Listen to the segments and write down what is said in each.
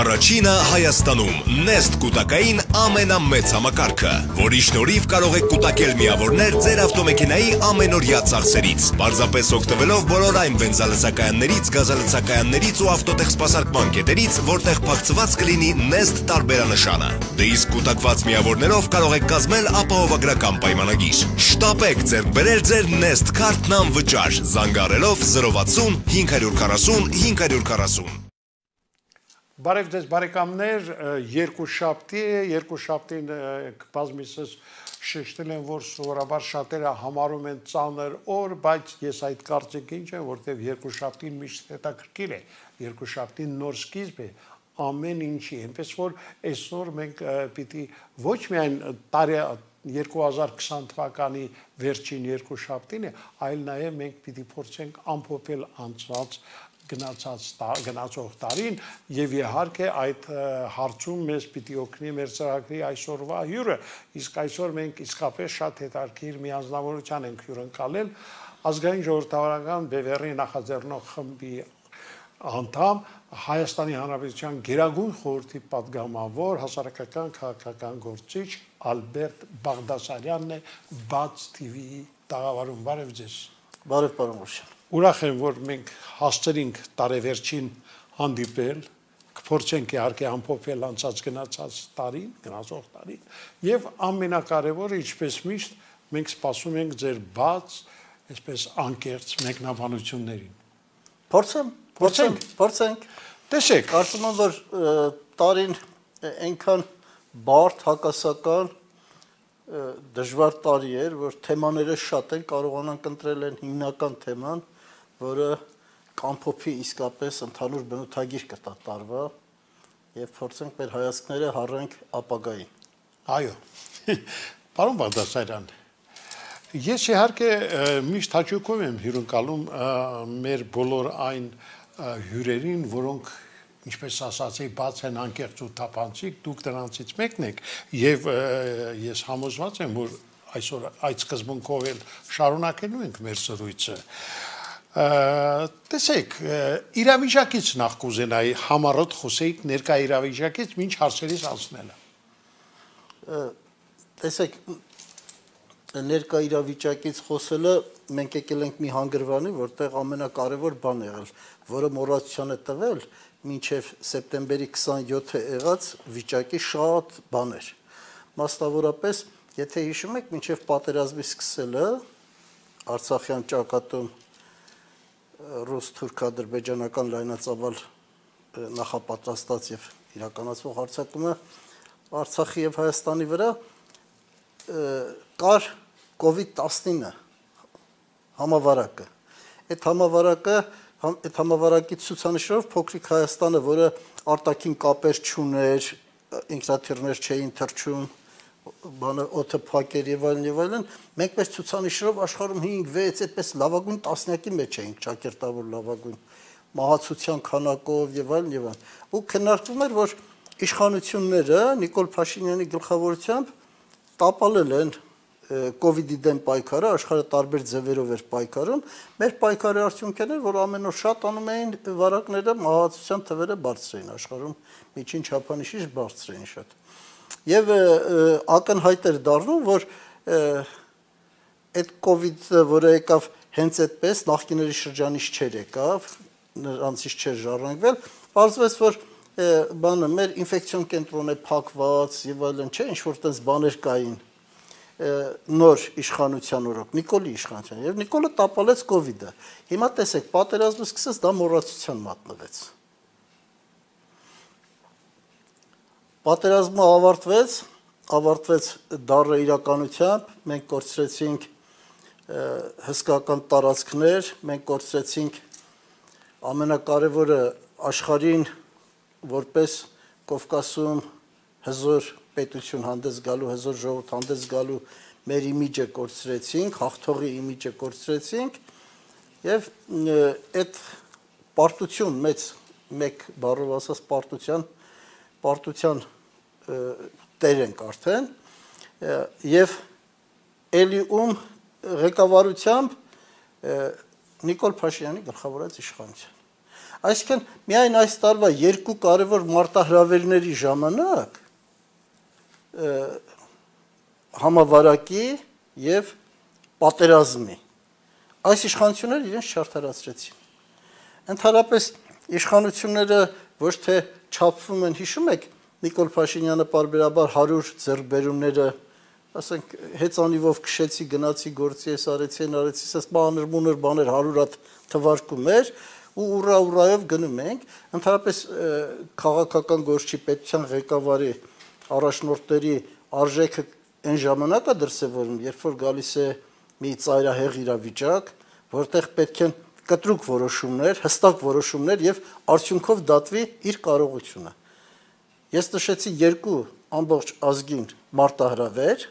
Առաջինը Հայաստանում Nest կուտակային ամենամեծ համակարգը, որի շնորհիվ կարող եք կուտակել միավորներ ձեր ավտոմեքենայի ամենօրյա ծախսերից, պարզապես օգտվելով բոլոր այն բենզալցակայաններից, գազալցակայաններից ու ավտոտեխսպասարկման կետերից, որտեղ փակցված կլինի Nest տարբերանշանը։ Դե իսկ կուտակված միավորներով կարող եք կազմել ապահովագրական պայմանագիր։ Շտապեք ձեռք բերել ձեր Nest քարտն անվճար, զանգահարելով 060 540 540։ Բարև ձեզ բարեկամներ, երկուշաբթին բազմիցս շեշտել եմ, որ սովորաբար շատերը համարում են ծանր օր, բայց ես այդ կարծիքին չեմ, որտեղ երկուշաբթին միշտ հետաքրքիր է, երկուշաբթին նոր սկիզբ է ամեն ինչի, այնպես որ այսօր մենք պիտի ոչ միայն 2020 թվականի վերջին երկուշաբթին է, այլ նաև մենք պիտի փորձենք ամփոփել անցած գնացող տարին եւ իհարկե այդ հարցում մեզ պիտի օգնի մեր ծրագրի այսօրվա հյուրը, իսկ այսօր մենք իսկապես շատ հետաքրքիր մի անձնավորության ենք հյուրընկալել ազգային ժողովրդավարական բևեռի նախաձեռնող խմբի անդամ Հայաստանի Հանրապետության Գերագույն խորհրդի պատգամավոր հասարակական քաղաքական գործիչ Ալբերտ Բաղդասարյանն է Բաց TV-ի տաղավարում։ Բարև ձեզ։ Բարև պարոն Մուրշյան։ Ուրախ եմ, որ մենք հասցրինք տարեվերջին հանդիպել, կփորձենք իհարկե ամփոփել անցած գնացող տարին, եւ ամենակարևորը, ինչպես միշտ, մենք սպասում ենք ձեր բաց, այսպես անկեղծ մեկնաբանություններին։ Փորձենք։ Տեսեք, կարծում եմ, որ տարին այնքան բարդ հակասական դժվար տարի էր, որ թեմաները շատ են, կարողանանք ընտրել են հիմնական թեման, որը կամփոփի իսկապես ընդհանուր բնութագիր կտա տարվա եւ փորձենք մեր հայացքները հառենք ապագային։ Այո։ Պարոն Բաղդասարյան, ես իհարկե միշտ հաճույքով եմ հյուրընկալում մեր բոլոր այն հյուրերին, որոնք ինչպես ասացի, բաց են անկեղծ ու թափանցիկ, դուք դրանցից մեկն եք եւ ես համոզված եմ, որ այսօր այդ սկզբունքով էլ շարունակելու ենք մեր զրույցը։ Տեսեք, իրավիճակից նախ կուզենայի համառոտ խոսեիք ներկա իրավիճակից մինչ հարցերից անցնելը։ Տեսեք, ներկա իրավիճակից խոսելը մենք եկել ենք մի հանգրվանի, որտեղ ամենակարևոր բան եղել, որը մոռացության է տվել մինչև սեպտեմբերի 27-ը եղած վիճակի շատ բաներ։ Մասնավորապես, եթե հիշում եք, մինչև պատերազմի սկսելը Արցախյան ճակատում ռուս-թուրք-ադրբեջանական լայնածավալ նախապատրաստած եւ իրականացվող հարձակումը Արցախի եւ Հայաստանի վրա կար COVID-19 համավարակը։ Այդ համավարակի ցուցանիշով փոքրիկ Հայաստանը, որը արտաքին կապեր չուներ, ինքնաթիռներ չէին թռչում, օդը փակեր եւ այլն, մենք մեր ցուցանիշով աշխարհում 5-6 այդպես լավագույն տասնյակի մեջ էինք, ճակերտավոր լավագույն մահացության քանակով եւ այլն։ Ու քննարկվում էր, որ իշխանությունները Նիկոլ Փաշինյանի գլխավորությամբ տապալել են COVID-ի դեմ պայքարը, աշխարհը տարբեր ձևերով էր պայքարում, մեր պայքարի արդյունքն էր, որ ամեն օր շատ անում էին վարակները, մահացության թվերը բարձր էին աշխարհում, միջին չափանիշից բարձր էին շատ։ Եվ ակնհայտ էր դառնում, որ այդ COVID-ը, որը եկավ հենց այդպես, նախկիների շրջանից չէր եկավ, նրանցից չէր ժառանգվել, պարզվեց, որ մեր ինֆեկցիոն կենտրոնը փակված եւ այլն չէ, ինչ որ տես բաներ կային նոր իշխանության օրոք, Նիկոլի իշխանության, եւ Նիկոլը տապալեց COVID-ը։ Հիմա տեսեք, պատերազմը սկսեց, դա մոռացության մատնվեց։ Պատերազմը ավարտվեց դառը իրականությամբ, մենք կորցրեցինք հսկական տարածքներ, մենք կորցրեցինք ամենակարևորը աշխարհին որպես Կովկասում հզոր պետություն հանդես գալու, հզոր ժողովուրդ հանդես գալու մեր իմիջը կորցրեցինք, հաղթողի իմիջը կորցրեցինք եւ այդ պարտություն մեկ բառով ասած պարտության տեր ենք արդեն եւ էլիում ղեկավարությամբ Նիկոլ Փաշինյանի գլխավորած իշխանության։ Այսինքն միայն այս տարվա երկու կարևոր մարտահրավերների ժամանակ համավարակի եւ պատերազմի այս իշխանությունները իրենց չարդարացրեցին։ Ընդհանրապես իշխանությունները ոչ թե չափվում են, հիշում եք Նիկոլ Փաշինյանը պարբերաբար 100 ձեռքբերումները, ասենք հեծանիվով քշեցի, գնացի գործի ես արեցի, ասես բաներ բաներ 100 հատ թվարկում էր ու ուռայով գնում ենք, ընդհանրապես քաղաքական գործչի պետության ղեկավարի առաջնորդների արժեքը այն ժամանակա դրսևորում, երբ որ գալիս է մի ծայրահեղ իրավիճակ, որտեղ պետք են կտրուկ որոշումներ, հստակ որոշումներ եւ արդյունքով դատվի իր կարողությունը։ Ես նշեցի երկու ամբողջ ազգին մարտահրավեր,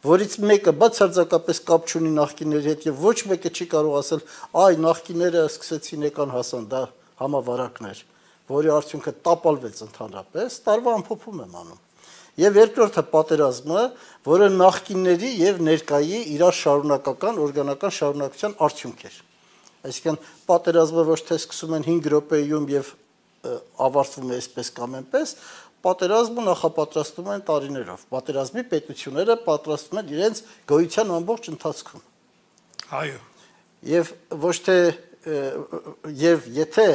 որից մեկը բացարձակապես կապ չունի նախկինների հետ եւ ոչ մեկը չի կարող ասել, այ նախկինները սկսեցին եկան հասան, դա համավարակներ, որի արդյունքը տապալվեց ընդհանրապես, տարվա ամփոփում եմ անում։ Եվ երկրորդը պատերազմը, որը նախկինների եւ ներկայի իրար շարունակական օրգանական շարունակության արդյունք էր։ Այսինքն պատերազմը ոչ թե սկսում են 5 րոպեում եւ ավարտվում է այսպես կամ այնպես, պատերազմը նախապատրաստում են տարիներով։ Պատերազմի պետությունները պատրաստում են իրենց գոյության ամբողջ ընթացքում։ Այո։ Եվ ոչ թե եւ եթե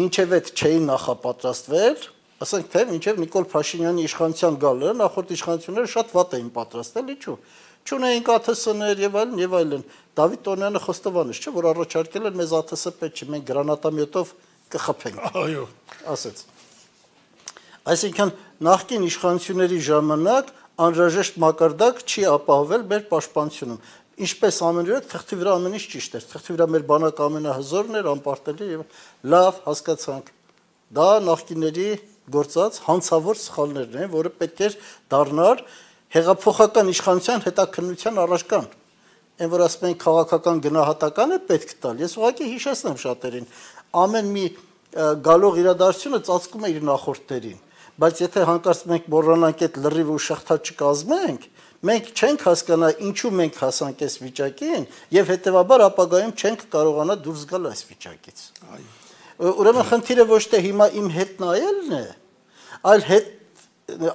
մինչև այդ չէին նախապատրաստվել, ասենք թե մինչև Նիկոլ Փաշինյանի իշխանության գալը նախորդ իշխանությունները շատ վատ էին պատրաստել, ինչու՞։ Չունեին ԱԹՍ-ներ եւ այլն եւ այլն։ Դավիթ Տոնյանը խոստովանեց, չէ, որ առաջարկել են մեզ ԱԹՍ պետք չի, մենք գրանատամյոտով կխփենք։ Այո, ասեց։ Այսինքն նախկին իշխանությունների ժամանակ անհրաժեշտ մակարդակ չի ապահովել մեր պաշտպանությունում։ Ինչպես ամենուրեք թղթի վրա ամեն ինչ ճիշտ էր, թղթի վրա մեր բանակը ամենահզորն էր, անպարտելի եւ լավ հասկացանք։ Դա նախկինների գործած հանցավոր սխալներն են, որը պետք էր դառնար հեղափոխական իշխանության հետաքննության առարկան։ Այն որ ասում են քաղաքական գնահատական է պետք տալ, ես ուղղակի հիշեցնեմ շատերին, ամեն մի գալող իրադարձությունը ծածկում է իր նախորդներին, բայց եթե հանկարծ մենք մոռանանք այդ լրիվ ու շղթա չկազմենք, մենք չենք հասկանա ինչու մենք հասանք այս վիճակին եւ հետեւաբար ապագայում չենք կարողանա դուրս գալ այս վիճակից։ Ուրեմն խնդիրը ոչ թե հիմա իմ հետ նայելն է, այլ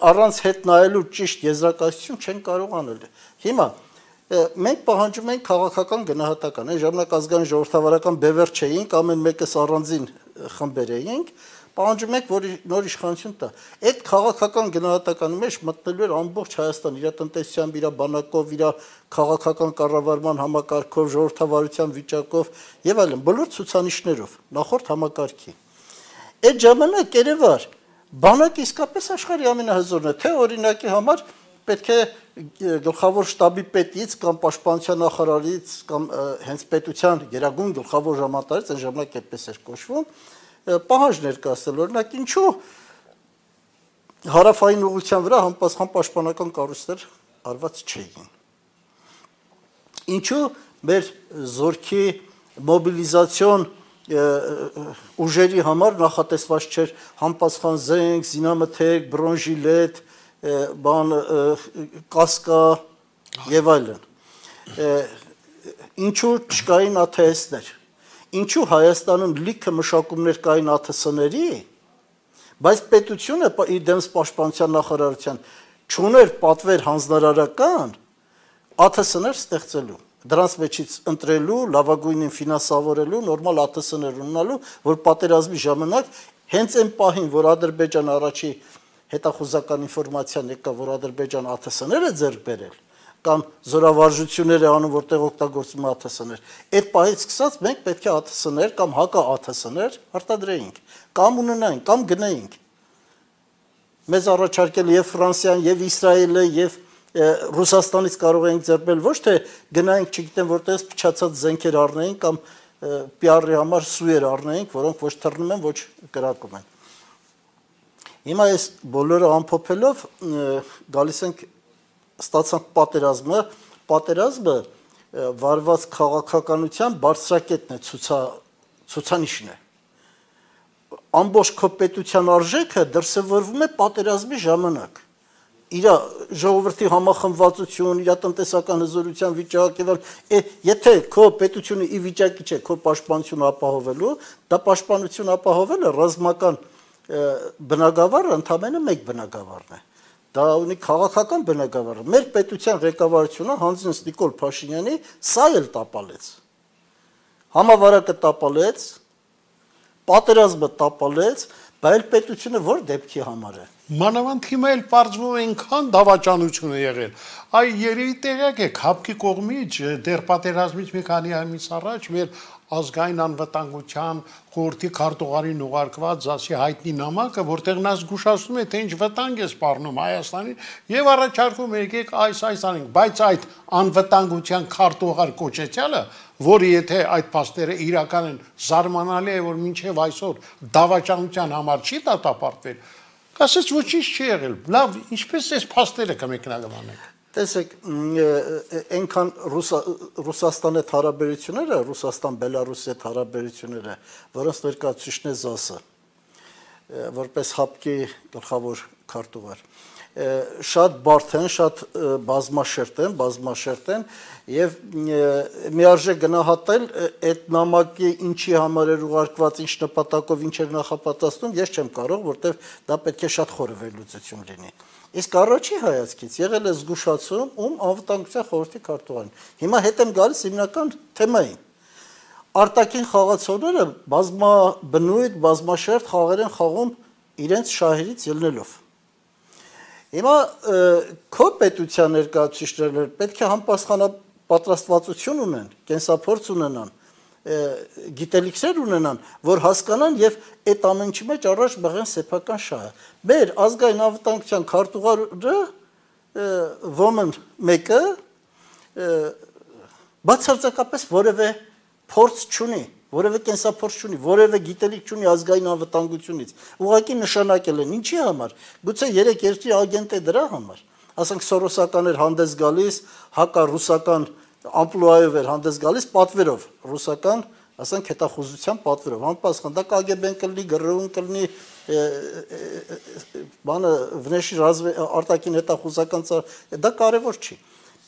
առանց հետ նայելու ճիշտ եզրակացություն չեն կարող անել։ Հիմա մենք պահանջում ենք քաղաքական գնահատական, այն ժամանակ ազգային ժողովրդավարական բևեռ չէինք, ամեն մեկս առանձին խմբեր էինք, պահանջում ենք, որ նոր իշխանություն տա։ Այդ քաղաքական գնահատականի մեջ մտնելու էր ամբողջ Հայաստան, իր տնտեսությամբ, իր բանակով, իր քաղաքական կառավարման համակարգով, ժողովրդավարության վիճակով եւ այլն, բոլոր ցուցանիշներով, նախորդ համակարգի։ Այդ ժամանակ երևար բանակը իսկապես աշխարհի ամենահզորն է, թե օրինակի համար պետք է գլխավոր շտաբի պետից կամ պաշտպանության նախարարից կամ հենց պետության գերագույն գլխավոր ժամանակից այն ժամանակ այդպես էր կոչվում, պահանջ ներկայացնել, օրինակ ինչու հարավային ուղղության վրա համապատասխան պաշտպանական կառույցներ արված չէին։ Ինչու մեր զորքի մոբիլիզացիոն ուժերի համար նախատեսված չէր համապատասխան զենք, զինամթերք, բրոնժիլետ, կասկա եւ այլն։ Ինչու չկային ԱԹՍ-ներ։ Ինչու Հայաստանում լիքը մշակումներ կային ԱԹՍ-ների, բայց պետությունը դեմս պաշտպանության նախարարության չուներ պատվեր հանձնարարական ԱԹՍ-ներ ստեղծելու, դրանց մեջից ընտրելու, լավագույնին ֆինանսավորելու, նորմալ ԱԹՍ-ներ ունենալու, որ պատերազմի ժամանակ հենց այն պահին, որ Ադրբեջանը առաջի հետախուզական ինֆորմացիան եկա, որ Ադրբեջան ԱԹՍ-ները ձեռք բերել, կամ զորավարժություններ է անում, որտեղ օգտագործում է ԱԹՍ-ներ, այդ պահից սկսած մենք պետք է ԱԹՍ-ներ կամ հակա ԱԹՍ-ներ արտադրեինք, կամ ունենայինք, կամ գնայինք։ Մեզ առաջարկել եւ Ֆրանսիան, եւ Իսրայելը, եւ Ռուսաստանից կարող էինք ձեռբերել, ոչ թե գնայինք, չգիտեմ, որտեղից փչացած զենքեր առնեինք կամ PR-ի համար սուեր առնեինք, որոնք ոչ թռնում են, ոչ կրակում են։ Հիմա այս բոլորը ամփոփելով գալիս ենք ստացանք պատերազմը վարված քաղաքականության բարձրակետն է, ցուցանիշն է։ Ամբողջ քո պետության արժեքը դրսևորվում է պատերազմի ժամանակ։ իր ժողովրդի համախմբվածություն, իր տնտեսական հզորության վիճակ եւ եթե քո պետությունը ի վիճակի չէ քո պաշտպանությունը ապահովելու, դա պաշտպանություն ապահովելը ռազմական բնագավառը ընդամենը մեկ բնագավառն է։ Դա ունի քաղաքական բնագավառը։ Մեր պետության ղեկավարությունը հանձնած Նիկոլ Փաշինյանի սա էլ տապալեց։ Համավարակը տապալեց, պատերազմը տապալեց, բայց պետությունը որ դեպքի համար է։ Մանավանդ հիմա էլ պարզվում է այնքան դավաճանություն է եղել։ Այ երևի տեղյակ եք, հապկի կողմից դեռ պատերազմից մի քանի ամիս առաջ մեր ազգային անվտանգության խորհրդի քարտուղարին ուղարկված ԶԱՍ-ի հայտնի նամակը, որտեղ նա զգուշացնում է, թե ինչ վտանգ է սպառնում Հայաստանին եւ առաջարկում է եկեք այս անենք, բայց այդ անվտանգության քարտուղար կոչեցյալը, որը եթե այդ փաստերը իրական են, զարմանալի է, որ մինչեւ այսօր դավաճանության համար չի դատապարտվել, ասես ոչինչ չի եղել։ Լավ, ինչպես էս փաստերը կմեկնաբանեք։ Տեսեք, այնքան Ռուսաստանի հետ հարաբերությունները, Ռուսաստան-Բելարուսի հետ հարաբերությունները, որոնց ներկայացուցիչն է ԶԱՍ-ը, որպես հապկի գլխավոր քարտուղար, շատ բարդ են, շատ բազմաշերտ են եւ միարժե գնահատել այդ նամակի ինչի համար էր ուղարկված, ինչ նպատակով, ինչ էր նախապատրաստում, ես չեմ կարող, որտեվ դա պետք է շատ խորը վերլուծություն լինի։ Իսկ առաջի հայացքից եղել է զգուշացում անվտանգության խորհրդի քարտուղարին։ Հիմա հետ եմ գալիս հիմնական թեմային։ Արտաքին խաղացողները բազմաբնույթ, բազմաշերտ խաղեր են խաղում իրենց շահերից ելնելով։ Հիմա քո պետության ներկայացուցիչները պետք է համապատասխանապատրաստվածություն ունեն, կենսափորձ ունենան, գիտելիքներ ունենան, որ հասկանան եւ այդ ամենի մեջ առաջ բղեն սեփական շահը։ Մեր ազգային անվտանգության քարտուղարը ոմն մեկը բացարձակապես որևէ փորձ չունի, որևէ կենսափորձ չունի, որևէ գիտելիք չունի ազգային անվտանգությունից։ Ուղղակի նշանակել են ինչի համար։ Գուցե 3 երկրի ագենտ է դրա համար։ Ասենք Սորոսական էր հանդես գալիս, հակառուսական ամպլուայով էր հանդես գալիս պատվերով, ռուսական, ասենք հետախուզության պատվերով, անպասխան, դա KGB-ն կլինի, ԳՌՈ-ն կլինի, բանը վնեշի արտաքին հետախուզական դա կարևոր չի։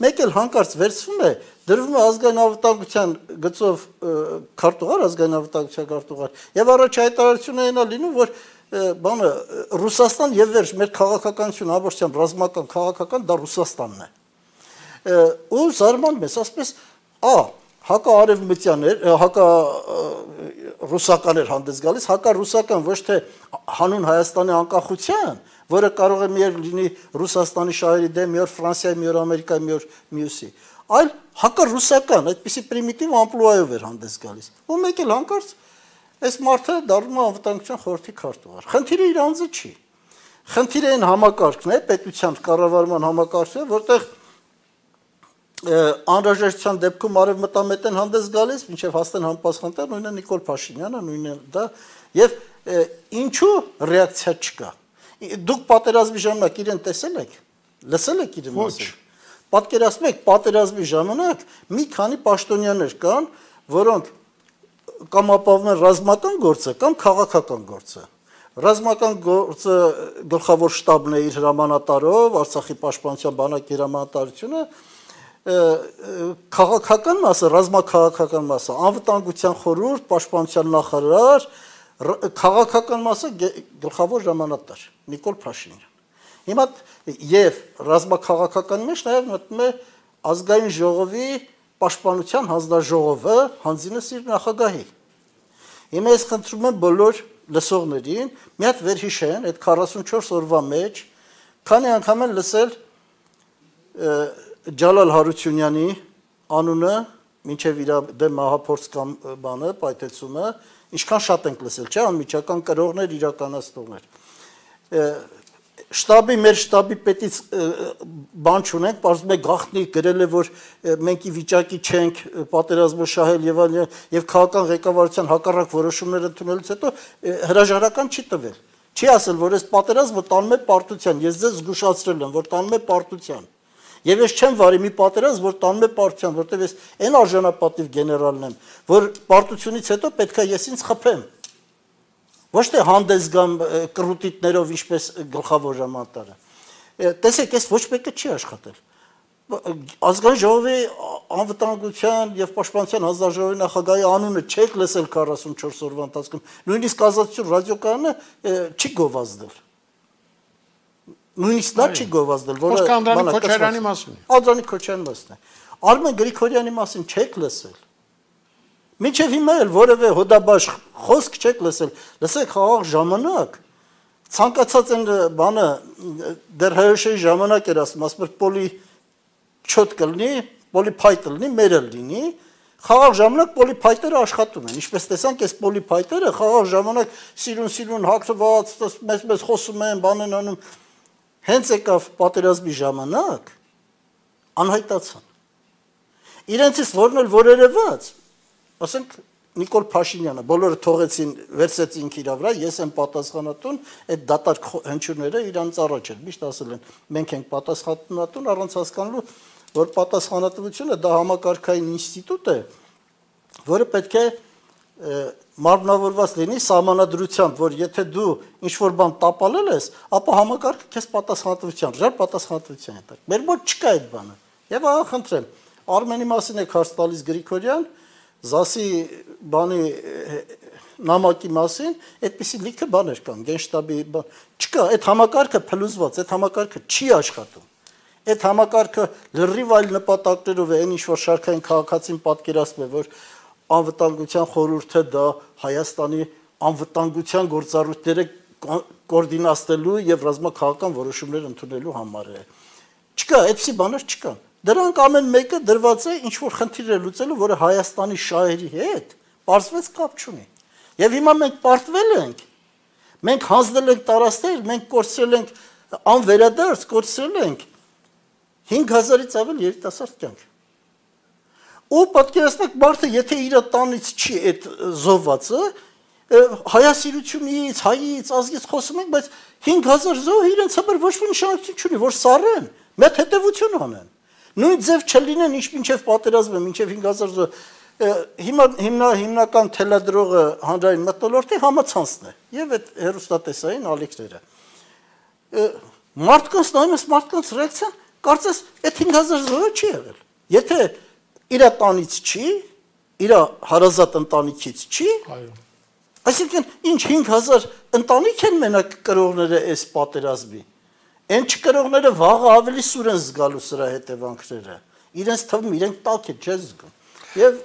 Մեկ էլ հանկարծ վերցվում է, դրվում է ազգային անվտանգության գծով քարտուղար, ազգային անվտանգության քարտուղար, եւ առաջայտարարությունը այնա լինում, որ բանը Ռուսաստան եւ վերջ մեր քաղաքականություն ամբողջությամբ ռազմական քաղաքական դա Ռուսաստանն է։ Ու զարմանում ես, ասես, հակաարևմտյան էր, հակառուսական էր հանդես գալիս, հակառուսական ոչ թե հանուն Հայաստանի անկախության, որը կարող է մի օր լինի Ռուսաստանի շահերի դեմ, մի օր Ֆրանսիայի, մի օր Ամերիկայի, մի օր մյուսի, այլ հակառուսական, այդպիսի պրիմիտիվ ամպլուայով էր հանդես գալիս։ Ու մեկ էլ հանկարծ այս մարդը դառնում է անվտանգության խորհրդի քարտուղար։ Խնդիրը իր անձը չի։ Խնդիրը այն համակարգն է, պետության կառավարման համակարգն է, որտեղ անհրաժեշտության դեպքում արևմտամետ են հանդես գալիս, մինչև հասնեն համապատասխանատար, նույնը Նիկոլ Փաշինյանը, նույնը դա, եւ ինչու ռեակցիա չկա։ Դուք պատերազմի ժամանակ իրեն տեսել եք, լսել եք իր մասին։ Պատկերացնում եք, պատերազմի ժամանակ մի քանի պաշտոնյաներ կան, որոնք կամ ապահովում են ռազմական գործը, կամ քաղաքական գործը։ Ռազմական գործը գլխավոր շտաբն է իր հրամանատարով, Արցախի պաշտպանության բանակի հրամանատարությունը, քաղաքական մասը, ռազմաքաղաքական մասը, անվտանգության խորհուրդ, պաշտպանության նախարար, քաղաքական մասը գլխավոր հրամանատար Նիկոլ Փաշինյան։ Հիմա եւ ռազմաքաղաքական մեջ նաեւ մտնում է ազգային ժողովի պաշտպանության հանձնաժողովը հանձինս իր նախագահի։ Հիմա ես խնդրում եմ բոլոր լսողներին մի հատ վերհիշեն այդ 44 օրվա մեջ, քանի անգամ են լսել Ջալալ Հարությունյանի անունը, մինչև իր դեմ մահափորձ կամ բանը, պայթեցումը, ինչքան շատ ենք լսել, չէ՞, անմիջական կրողներ, իրականացնողներ։ Մեր շտաբի պետից բան չունենք, պարզվում է գաղտնի գրել է, որ մենք ի վիճակի չենք պատերազմը շահել եւ քաղաքական ղեկավարության հակառակ որոշումներ ընդունելուց հետո հրաժարական չի տվել։ Չի ասել, որ այս պատերազմը տանում է պարտության, ես ձեզ զգուշացրել եմ, որ տանում է պարտության։ Եվ ես չեմ վարի մի պատերազմ, որ տանում է պարտության, որտեղ ես այն արժանապատիվ գեներալն եմ, որ պարտությունից հետո պետք է ես ինձ խփեմ։ Ոչ թե հանդես գամ կռուտիտներով, ինչպես գլխավոր հրամանատարը։ տեսեք, այս ոչ մեկը չի աշխատել։ Ազգային ժողովի անվտանգության եւ պաշտպանության հանձնաժողովի նախագահի անունը չեք լսել 44 օրվա ընթացքում, նույնիսկ ազատություն ռադիոկայանը չի գովազդել։ Նույնիսկ նա չի գովազդել, որը Անդրանիկ Քոչարյանի մասին է։ Անդրանիկ Քոչարյանի մասին է։ Արմեն Գրիգորյանի մասին չեք լսել։ Մինչև հիմա էլ որևէ հոդաբաշխ խոսք չեք լսել։ Լսեք, խաղաղ ժամանակ ցանկացած են բանը դեռ հայոշեի ժամանակ էր ասում պոլի չոտ կլինի, պոլիփայտ լինի, մերել լինի, խաղաղ ժամանակ պոլիփայտերը աշխատում են։ Ինչպես տեսանք, այս պոլիփայտերը խաղաղ ժամանակ սիրուն հագնված, մեզ խոսում են, բան են անում։ Հենց եկավ պատերազմի ժամանակ անհայտացան։ Իրենցից որն էլ որ երևաց, ասենք Նիկոլ Փաշինյանը, բոլորը թողեցին, վերցեցին իր վրա, ես եմ պատասխանատուն, այդ դատարկ հնչյունները իրանց առաջ են, միշտ ասել են, մենք ենք պատասխանատուն, առանց հասկանալու, որ պատասխանատվությունը դա համակարգային ինստիտուտ է, որը պետք է մարմնավորված լինի սահմանադրությամբ, որ եթե դու ինչ-որ բան տապալել ես, ապա համակարգը քեզ պատասխանատվության, ժար պատասխանատվության է տակ։ Մեր մոտ չկա այդ բանը։ Եվ ահա խնդրեմ, Արմենի մասին եք հարց տալիս Գրիգորյան, ԶԱՍ-ի բանի նամակի մասին, այդպիսի լիքը բաներ կան, գենշտաբի բան։ Չկա, այդ համակարգը փլուզված, այդ համակարգը չի աշխատում։ Այդ համակարգը լրիվ այլ նպատակներով է, այն ինչ որ շարքային քաղաքացին պատկերացնում է, որ անվտանգության խորհուրդը դա Հայաստանի անվտանգության գործառույթները կոորդինացնելու եւ ռազմաքաղաքական որոշումներ ընդունելու համար է։ Չկա, այդպիսի բաներ չկան։ Դրանք ամեն մեկը դրված է ինչ որ խնդիր է լուծելու, որը Հայաստանի շահերի հետ պարզվեց կապ չունի։ Եվ հիմա մենք պարտվել ենք, մենք հանձնել ենք տարածքներ, մենք կորցրել ենք անվերադարձ, կորցրել ենք 5000-ից ավել երիտասարդ կյանք։ Ու պատկերացնեք, մարդը եթե իր տանից չի այդ զոհվածը, հայասիրությունից, հայից, ազգից խոսում ենք, բայց 5000 զոհը իրենց համար ոչ մի նշանակություն չունի, որ սառեն, մեծ հետևություն անեն։ Նույն ձև չլինեն, ինչ մինչև պատերազմը, մինչև 5000 զոհ։ Հիմնական թելադրողը հանրային մթնոլորտի համացանցն է եւ այդ հերոստատեսային ալիքները։ Մարդկանց նայում ես, մարդկանց ռեակցիան, կարծես այդ 5000 զոհը չի եղել։ Եթե իր տանից չի, իր հարազատ ընտանիքից չի, այսինքն ինչ 5000 ընտանիք են մենակ կրողները այս պատերազմի։ Այն չկրողները վաղը ավելի սուր են զգալու սրա հետևանքները։ Իրենց թվում իրենք տակ է չես զգում։ Եվ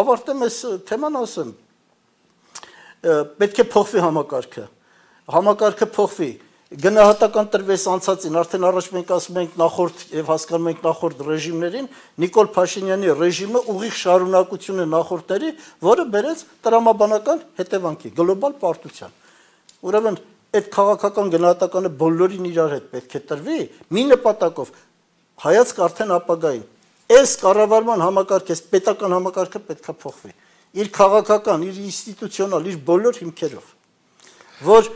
ավարտեմ այս թեման ասեմ, պետք է փոխվի համակարգը։ Համակարգը փոխվի։ Գնահատական տրվես անցածին, արդեն առաջ մենք ասում ենք նախորդ եւ հասկանում ենք նախորդ ռեժիմներին, Նիկոլ Փաշինյանի ռեժիմը ուղիղ շարունակություն է նախորդների, որը բերեց տրամաբանական հետևանքի, գլոբալ պարտության։ Ուրեմն այդ քաղաքական գնահատականը բոլորին իրար հետ պետք է տրվի, մի նպատակով հայացք արդեն ապագային։ Այս կառավարման համակարգը, այս պետական համակարգը պետք է փոխվի։ Իր քաղաքական, իր ինստիտուցիոնալ, իր բոլոր հիմքերով, որ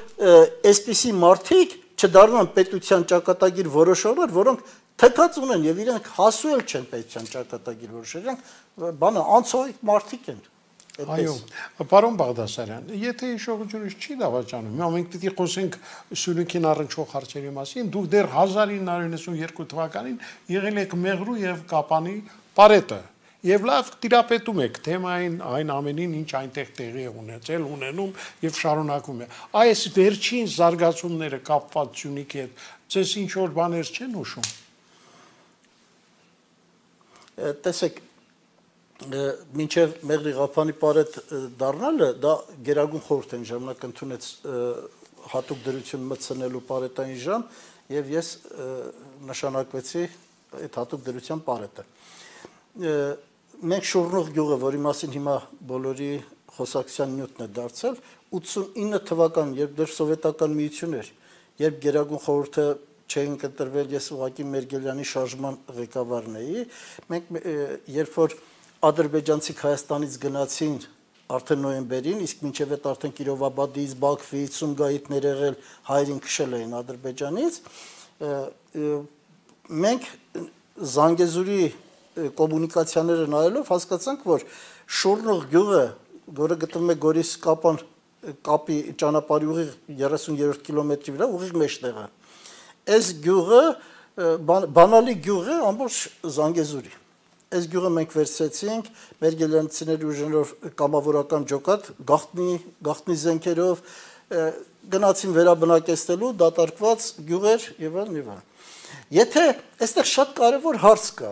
այսպիսի մարդիկ չդառնան պետության ճակատագիր որոշողներ, որոնք թքած ունեն եւ իրենք հասու էլ չեն պետության ճակատագիր որոշել, բանը անցողիկ մարդիկ են։ Այո, պարոն Բաղդասարյան, եթե հիշողությունից չի դավաճանում, հիմա մենք պիտի խոսենք Սյունիքին առնչվող հարցերի մասին, դուք դեռ 1992 թվականին եղել եք Մեղրու եւ Կապանի պարետը եւ լավ տիրապետում եք թեմային այն ամենին, ինչ այնտեղ տեղի է ունեցել, ունենում եւ շարունակում է։ Այս վերջին զարգացումները կապված Սյունիքի հետ ձեզ ինչ որ բաներ չեն հուշում։ Տեսեք, մինչև Մեղրի Ղափանի պարետ դառնալը, դա Գերագույն խորհուրդ են ժամանակ ընդունեց հատուկ դրություն մտցնելու պարետային ժամ եւ ես նշանակվեցի այդ հատուկ դրության պարետը։ Մենք Շուռնուղ գյուղը, որի մասին հիմա բոլորի խոսակցության նյութն է դարձել, 89 թվական, երբ դեռ սովետական միություն էր, երբ Գերագույն խորհուրդը չէին կտրվել, ես ուղղակի Մերգելյանի շարժման ղեկավարն էի, մենք երբ որ ադրբեջանցիք Հայաստանից գնացին արդեն նոյեմբերին, իսկ մինչև այդ արդեն Կիրովաբադից, Բաքվից, Սումգայիթներ եղել, հայերին քշել էին Ադրբեջանից, մենք Զանգեզուրի կոմունիկացիաները նայելով հասկացանք, որ Շուռնուղ գյուղը, որը գտնվում է Գորիս կապի ճանապարհի ուղիղ 30-րդ կիլոմետրի վրա, ուղիղ մեջտեղը, այս գյուղը բանալի գյուղ է ամբողջ Զանգեզուրի։ Այս գյուղը մենք վերցրեցինք մեր գելյանցիների ուժերով կամավորական ջոկատ, գաղտնի զենքերով գնացին վերաբնակեցնելու դատարկված գյուղեր եւ այլն։ Եթե այստեղ շատ կարևոր հարց կա։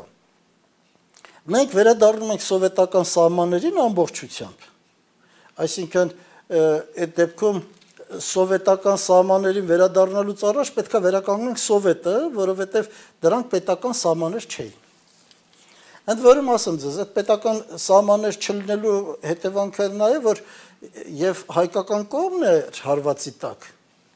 Մենք վերադառնում ենք սովետական սահմաններին ամբողջությամբ։ Այսինքն այդ դեպքում սովետական սահմաններին վերադառնալուց առաջ պետք է վերականգնենք սովետը, որովհետև դրանք պետական սահմաններ չէին։ Ընդ որում ասեմ ձեզ, այդ պետական սահմաններ չլինելու հետևանքը նա է, որ եւ հայկական կողմն է հարվածի տակ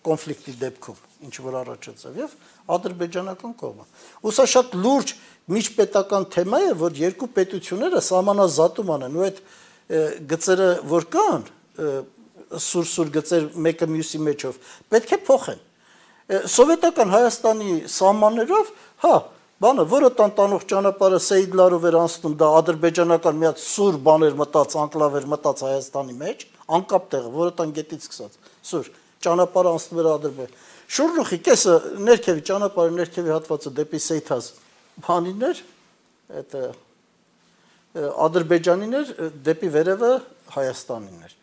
կոնֆլիկտի դեպքում, ինչ որ առաջացավ, եւ ադրբեջանական կողմը։ Ու սա շատ լուրջ միջպետական թեմա է, որ երկու պետությունները սահմանազատում անեն, ու այդ գծերը որ կան, սուր գծեր մեկը մյուսի մեջով, պետք է փոխեն։ Սովետական Հայաստանի սահմաններով, հա, բանը, որը տանտանող ճանապարհը Սեյդլարով էր անցնում, դա ադրբեջանական մի հատ սուր բաներ մտած, անկլավ էր մտած Հայաստանի մեջ, անկապ տեղը, որը տան գետից սկսած, սուր, ճանապարհը անցնում էր Ադրբեջան։ Շուրջուխի կեսը ներքևի ճանապարհի ներքևի հատվածը դեպի Սեյթազ բանին էր, այդ Ադրբեջանին էր, դեպի վերևը Հայաստանին էր։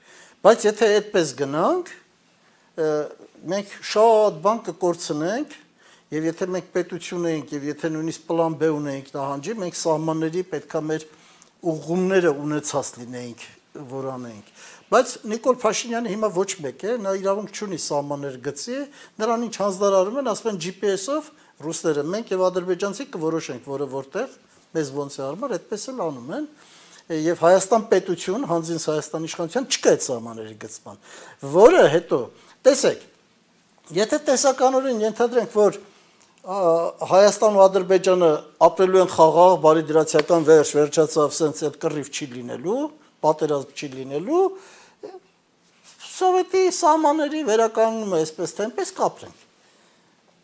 Բայց եթե այդպես գնանք, մենք շատ բան կկորցնենք, եւ եթե մենք պետություն ենք եւ եթե նույնիսկ պլան B ունենք նահանջի, մենք սահմանների պետքա մեր ուղղումները ունեցած լինեինք, որ անենք։ Բայց Նիկոլ Փաշինյանը հիմա ոչ մեկ է, նա իրավունք չունի սահմաններ գծի, նրան ինչ հանձնարարում են, ասում են GPS-ով ռուսները, մենք եւ ադրբեջանցիք կորոշենք, որը որտեղ, մեզ ոնց է արմար, այդպես էլ անում են։ Եվ Հայաստան պետություն, հանձինս Հայաստան իշխանության չկա այդ սահմանների գծման, որը հետո, տեսեք, եթե տեսականորեն ենթադրենք, որ Հայաստան ու Ադրբեջանը ապրելու են խաղաղ, բարիդրացիական վերջացավ, սենց այդ կռիվ չի լինելու, պատերազմ չի լինելու, սովետի սահմանների վերականգնումը այսպես թե այնպես կապրենք։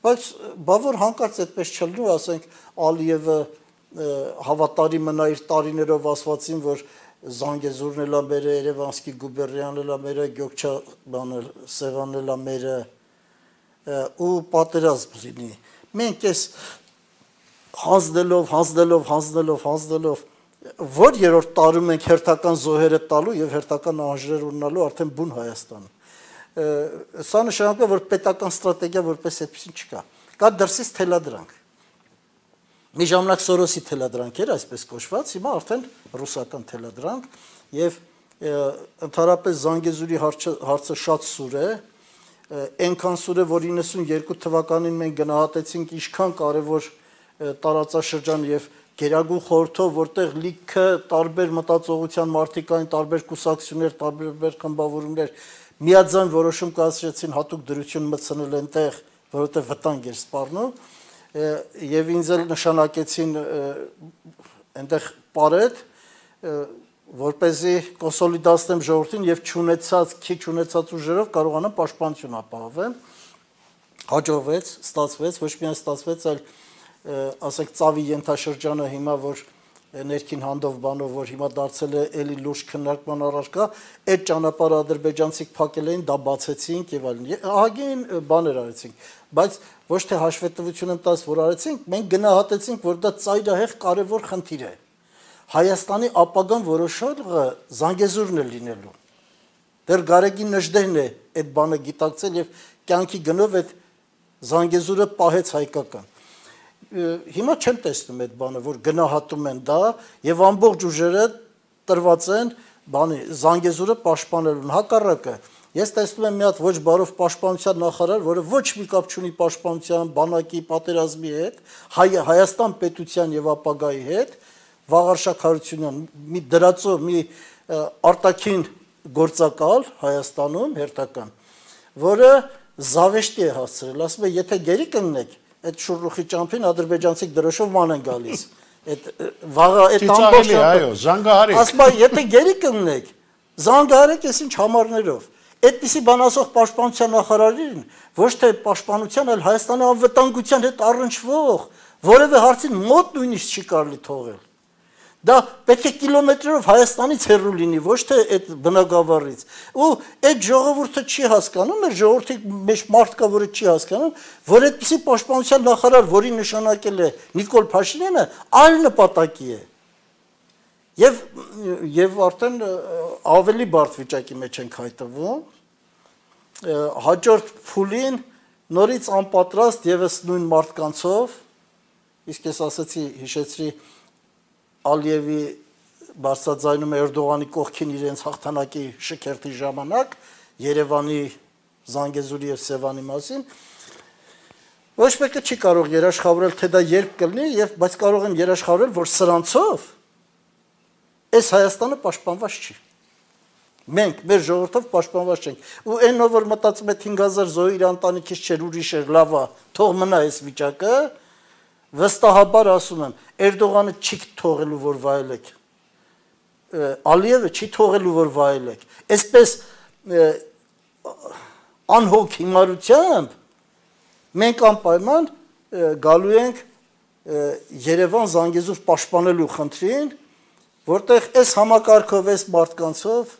Բայց բա որ հանկարծ այդպես չլինի, ասենք Ալիևը հավատարիմ մնա իր տարիներով ասվածին, որ Զանգեզուրն էլա մերը, Երևանսկի գուբերնիան էլա մերը, Գյոքչա բանը Սևանն էլա մերը ու պատերազմ լինի։ Մենք այս հանձնելով որ երրորդ տարում ենք հերթական զոհերը տալու եւ հերթական անհրաժեշտ ունենալու արդեն բուն Հայաստան։ Սա նշանակում է, որ պետական ստրատեգիա որպես այդպեսին չկա։ Կա դրսից թելադրանք։ Մի ժամանակ Սորոսի թելադրանք էր, այսպես կոչված, հիմա արդեն ռուսական թելադրանք եւ ընդհանրապես Զանգեզուրի հարցը շատ սուր է, այնքան սուր է, որ 92 թվականին մենք գնահատեցինք ինչքան կարևոր տարածաշրջան եւ Գերագույն խորհրդով, որտեղ լիքը տարբեր մտածողության մարդիկային, տարբեր կուսակցություններ, տարբեր խմբավորումներ միաձայն որոշում կայացրեցին հատուկ դրություն մտցնել այնտեղ, որովհետև վտանգ էր սպառնում, եւ ինձ էլ նշանակեցին այնտեղ պարետ, որպեսզի կոնսոլիդացնեմ ժողովրդին եւ քիչ ունեցած ուժերով կարողանամ պաշտպանություն ապահովեմ։ Հաջողվեց, ստացվեց, ոչ միայն ստացվեց, այլ ասենք ծավի ենթաշրջանը հիմա որ ներքին հանդով բանով որ հիմա դարձել է էլի լուրջ քննարկման առարկա, այդ ճանապարհը ադրբեջանցիք փակել էին, դա բացեցինք եւ այլն։ Ահագին բաներ արեցինք, բայց ոչ թե հաշվետվություն եմ տալիս, որ արեցինք, մենք գնահատեցինք, որ դա ծայրահեղ կարևոր խնդիր է։ Հայաստանի ապագան որոշողը Զանգեզուրն է լինելու։ Դեռ Գարեգին Նժդեհն է այդ բանը գիտակցել եւ կյանքի գնով այդ Զանգեզուրը պահեց հայկական։ Հիմա չեմ տեսնում այդ բանը, որ գնահատում են դա եւ ամբողջ ուժերը տրված են բանի Զանգեզուրը պաշտպանելուն, հակառակը։ Ես տեսնում եմ մի հատ ոչ բարով պաշտպանության նախարար, որը ոչ մի կապ չունի պաշտպանության, բանակի, պատերազմի հետ, Հայաստան պետության եւ ապագայի հետ, Վաղարշակ Հարությունյան, մի դրածո, մի արտաքին գործակալ Հայաստանում հերթական, որը զավեշտի է հասցրել, ասում է, եթե գերի կանգնեք այդ շուռուխի ճամփին ադրբեջանցիք դրոշով ման են գալիս։ Այդ վաղը այդ ամբողջ այո, զանգահարեք։ Ասում է, եթե գերի կանգնեք, զանգահարեք ես ինչ համարներով։ Այդպիսի բան ասող պաշտպանության նախարարին ոչ թե պաշտպանության, այլ Հայաստանի անվտանգության հետ առնչվող որևէ հարցին մոտ նույնիսկ չի կարելի թողել։ Դա պետք է կիլոմետրերով Հայաստանից հեռու լինի, ոչ թե այդ բնակավարից։ Ու այդ ժողովուրդը չի հասկանում, մեր ժողովրդի մեջ մարդ կա, որը չի հասկանում, որ այդպիսի պաշտպանության նախարար, որին նշանակել է Նիկոլ Փաշինյանը, այլ նպատակի է։ Եվ արդեն ավելի բարդ վիճակի մեջ ենք հայտնվում։ Հաջորդ փուլին նորից անպատրաստ եւս նույն մարդկանցով, իսկ ես ասացի, հիշեցրի Ալիևի բարձրաձայնում Էրդողանի կողքին իրենց հաղթանակի շքերթի ժամանակ Երևանի, Զանգեզուրի եւ Սևանի մասին ոչ մեկը չի կարող երաշխավորել թե դա երբ կլինի եւ բայց կարող են երաշխավորել որ սրանցով այս Հայաստանը պաշտպանված չի մենք մեր ժողովրդով պաշտպանված չենք ու այնով որ մտածում է 5000 զոհ իր ընտանիքից չէր ուրիշ էր լավա թող մնա այս վիճակը վստահաբար ասում եմ Էրդողանը չի թողելու որ վայելեք Ալիևը չի թողելու որ վայելեք այսպես անհոգ հիմարությամբ մենք անպայման գալու ենք Երևան Զանգեզուր պաշտպանելու խնդրին որտեղ այս համակարգով այս մարդկանցով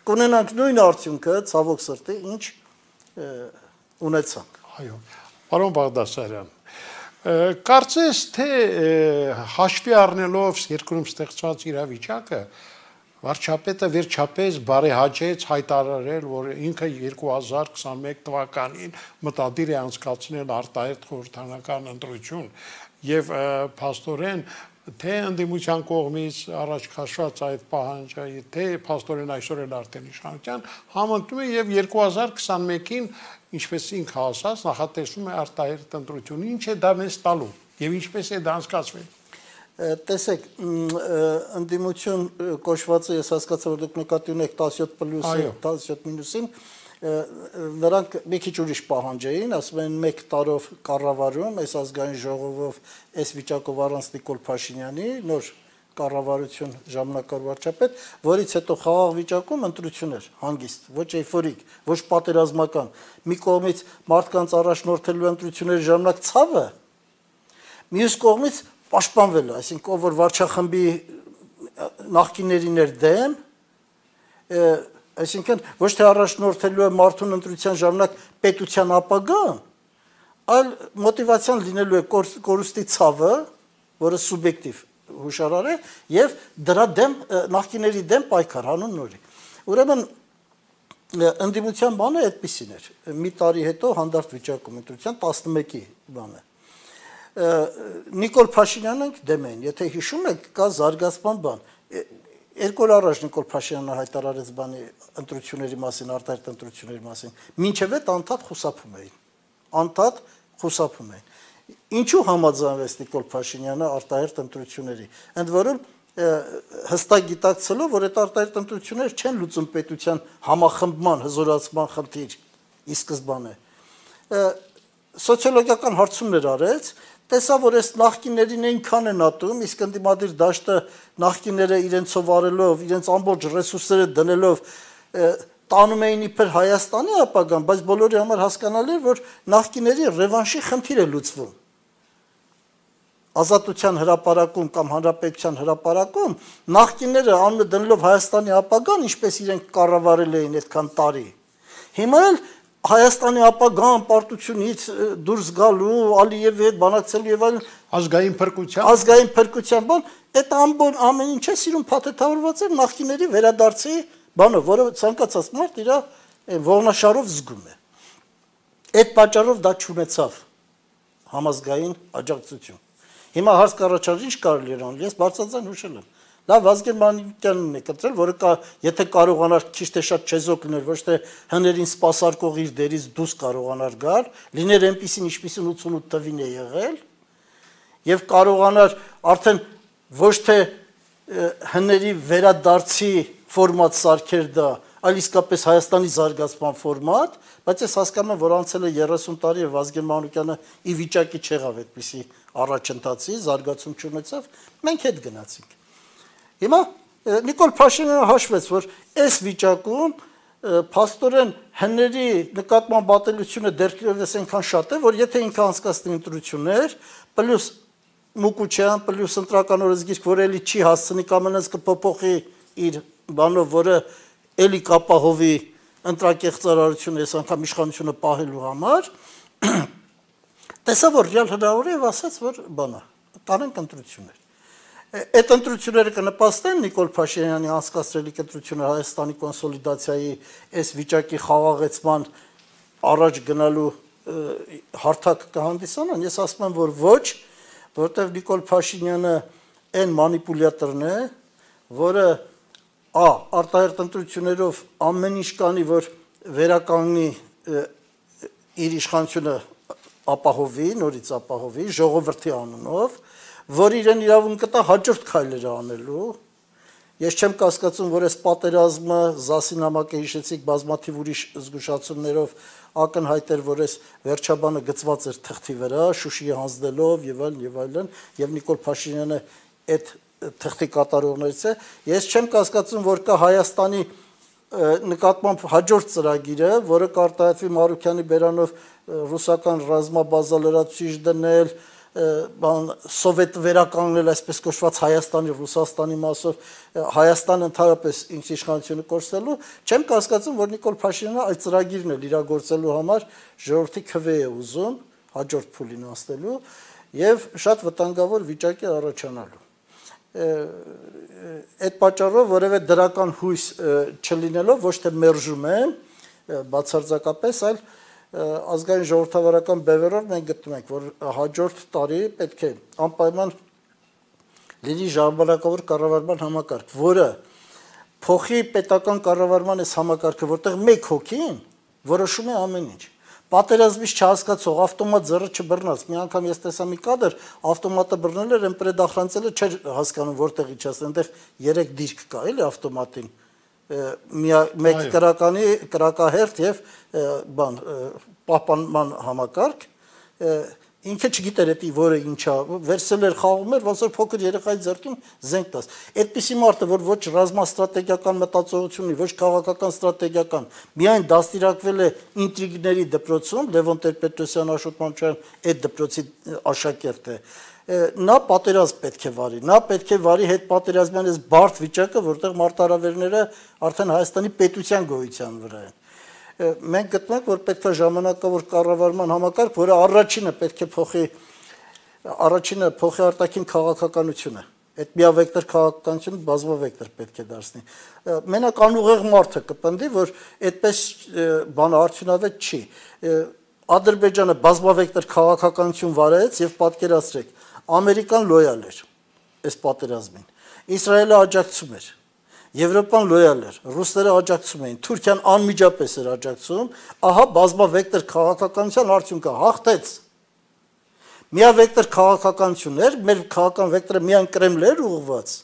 կունենանք նույն արդյունքը ցավոք սրտի ինչ ունեցանք այո պարոն Բաղդասարյան Կարծես թե հաշվի առնելով երկրում ստեղծված իրավիճակը վարչապետը վերջապես բարեհաճեց հայտարարել, որ ինքը 2021 թվականին մտադիր է անցկացնել արտահերթ խորհրդանական ընտրություն եւ փաստորեն թե ընդդիմության կողմից առաջ քաշված այդ պահանջը, թե փաստորեն այսօր էլ արդեն իշխանության համընկնում է եւ 2021-ին ինչպես ինքը ասաց, նախատեսում է արտահերթ ընտրություն, ինչ է դա մեզ տալու եւ ինչպես է դա անցկացվել։ Տեսեք, ընդդիմություն կոչվածը ես հասկացա, որ դուք նկատի ունեք 17+-ը, 17-ին, նրանք մի քիչ ուրիշ պահանջ էին, ասում են 1 տարով կառավարում, այս ազգային ժողովով, այս վիճակով առանց Նիկոլ Փաշինյանի, նոր կառավարություն ժամանակավոր վարչապետ, որից հետո խաղաղ վիճակում ընտրություններ, հանգիստ, ոչ էյֆորիկ, ոչ պատերազմական, մի կողմից մարդկանց առաջնորդելու ընտրությունների ժամանակ ցավը, մյուս կողմից պաշտպանվելը, այսինքն ով որ վարչախմբի նախկիններին էր դեմ, այսինքն ոչ թե առաջնորդելու է մարդուն ընտրության ժամանակ պետության ապագան, այլ մոտիվացիան լինելու է կորուստի ցավը, որը սուբյեկտիվ հուշարար է եւ դրա դեմ նախկիների դեմ պայքար հանուն նորի։ Ուրեմն ընդդիմության բանը այդպեսին էր։ Մի տարի հետո հանդարտ վիճակում ընտրության 11-ի բանը։ Նիկոլ Փաշինյանը դեմ էին, եթե հիշում եք, կա զարգացման բան։ 2 օր առաջ Նիկոլ Փաշինյանը հայտարարեց բանի ընտրությունների մասին, արտահերթ ընտրությունների մասին։ Մինչև այդ անդադ խուսափում էին։ Անդադ խուսափում էին։ Ինչու համաձայնվեց Նիկոլ Փաշինյանը արտահերթ ընտրությունների։ Ընդ որում հստակ գիտակցելով, որ այդ արտահերթ ընտրությունները չեն լուծում պետության համախմբման, հզորացման խնդիր ի սկզբանե։ Սոցիոլոգիական հարցումներ արեց, տեսա, որ այս նախկիներին այնքան են ատում, իսկ ընդդիմադիր դաշտը նախկիները իրենցով արելով, իրենց ամբողջ ռեսուրսները դնելով տանում էին իբր Հայաստանի ապագան, բայց բոլորի համար հասկանալի է, որ նախկիների ռևանշի խնդիր է լուծվում։ Ազատության հրապարակում կամ հանրապետության հրապարակում նախկիները անունը դնելով Հայաստանի ապագան, ինչպես իրենք կառավարել էին այդքան տարի։ Հիմա էլ Հայաստանի ապագան պարտությունից դուրս գալու, Ալիևի հետ բանակցելու եւ այլն ազգային փրկության բան, այդ ամեն ինչ է սիրուն փաթեթավորված է նախկիների վերադարձի բանը, որը ցանկացած մարդ իր ողնաշարով զգում է։ Այդ պատճառով դա չունեցավ համազգային աջակցություն։ Հիմա հարց կառաջարկի ինչ կարելի էր անել, ես բարձրաձայն հուշել եմ։ Լավ Վազգեն Մանուկյանն է կտրել, որը եթե կարողանար քիչ թե շատ չեզոք լիներ, ոչ թե հներին սպասարկող իր դերից դուրս կարողանար գալ, լիներ այնպեսին, ինչպեսին 88 թվին է եղել, եւ կարողանար արդեն ոչ թե հների վերադարձի ֆորմատ սարքեր դա, այլ իսկապես Հայաստանի զարգացման ֆորմատ, բայց ես հասկանում եմ, որ անցել է 30 տարի եւ Վազգեն Մանուկյանը ի վիճակի չեղավ այդպիսի առաջընթացի, զարգացում չունեցավ, մենք հետ գնացինք։ Հիմա Նիկոլ Փաշինյանը հաշվեց, որ այս վիճակում փաստորեն հների նկատմամբ ատելությունը դեռևս այնքան շատ է, որ եթե ինքը անցկացնի ընտրություններ, պլյուս Մուկուչյան պլյուս ընտրական օրենսգիրք, որ էլի չի հասցնի կամ այնպես կփոփոխի իր բանով, որը էլի կապահովի ընտրակեղծարարությունը, այս անգամ իշխանությունը պահելու համար, տեսա, որ ռեալ հնարավոր է եւ ասաց, որ բանա, կանենք ընտրություններ։ Այդ ընտրությունները կնպաստեն Նիկոլ Փաշինյանի անցկացրելի ընտրությունը Հայաստանի կոնսոլիդացիայի այս վիճակի խաղաղեցման առաջ գնալու հարթակ կհանդիսանան, ես ասում եմ, որ ոչ, որտեղ Նիկոլ Փաշինյանը այն մանիպուլյատորն է, որը արտահերթ ընտրություններով ամեն ինչ կանի, որ վերականգնի իր իշխանությունը ապահովի, նորից ապահովի, ժողովրդի անունով, որ իրեն իրավունք կտա հաջորդ քայլերը անելու։ Ես չեմ կասկածում, որ այս պատերազմը ԶԱՍ-ի նամակը հիշեցիք բազմաթիվ ուրիշ զգուշացումներով ակնհայտ էր, որ այս վերջաբանը գծված էր թղթի վրա, Շուշիի հանձնելով եւ այլն, եւ Նիկոլ Փաշինյանը այդ թղթի կատարողներից է։ Ես չեմ կասկածում, որ կա Հայաստանի նկատմամբ հաջորդ ծրագիրը, որը կարտահայտվի Մարուքյանի բերանով ռուսական ռազմաբազա լրացուցիչ դնել, սովետ վերականգնել, այսպես կոչված Հայաստանի, Ռուսաստանի մասով Հայաստանը ընդհանրապես ինքնիշխանությունը կորցնելու, չեմ կասկածում, որ Նիկոլ Փաշինյանը այդ ծրագիրն էլ իրագործելու համար ժողովրդի քվե է ուզում հաջորդ փուլին անցնելու եւ շատ վտանգավոր վիճակի առաջանալու։ Այդ պատճառով որևէ դրական հույս չլինելով ոչ թե մերժում եմ բացարձակապես, այլ ազգային ժողովրդավարական բևեռով մենք գտնում ենք, որ հաջորդ տարի պետք է անպայման լինի ժամանակավոր կառավարման համակարգ, որը փոխի պետական կառավարման այս համակարգը, որտեղ մեկ հոգին որոշում է ամեն ինչ։ Պատերազմից չհասկացող ավտոմատ ձեռը չբռնած։ Մի անգամ ես տեսա մի կադր, ավտոմատը բռնել էր, այն պրեդախրանցելը չէր հասկանում որտեղի չասել, այնտեղ 3 դիրք կա, էլի ավտոմատին։ Մեկ կրակահերթ եւ պահպանման համակարգ, ինքը չգիտեր էդի որը ինչա, վերցել էր խաղում էր, ոնց որ փոքր երեխայի ձեռքին զենք տաս։ Այդպիսի մարդը, որ ոչ ռազմաստրատեգիական մտածողություն ունի, ոչ քաղաքական ստրատեգիական, միայն դաստիարակվել է ինտրիգների դպրոցում, Լևոն Տեր-Պետրոսյան, Աշոտ Մանուկյան այդ դպրոցի աշակերտ է։ Նա պատերազմ պետք է վարի, նա պետք է վարի հետ պատերազմյան այս բարդ վիճակը, որտեղ մարտահրավերները արդեն Հայաստանի պետության գոյության վրա են։ Մենք գտնում ենք, որ պետք է ժամանակավոր կառավարման համակարգ, որը առաջինը պետք է փոխի արտաքին քաղաքականությունը։ Այդ միավեկտոր քաղաքականությունը բազմավեկտոր պետք է դարձնի։ Մենակ անուղեղ մարդը կպնդի, որ այդպես բանը արդյունավետ չի։ Ադրբեջանը բազմավեկտոր քաղաքականություն վարեց եւ պատկերացրեք, Ամերիկան լոյալ էր այս պատերազմին, Իսրայելը աջակցում էր, Եվրոպան լոյալ էր, ռուսները աջակցում էին, Թուրքիան անմիջապես էր աջակցում, ահա բազմավեկտոր քաղաքականության արդյունքը հաղթեց։ Միավեկտոր քաղաքականություններ, մեր քաղաքական վեկտորը միայն Կրեմլ էր ուղղված։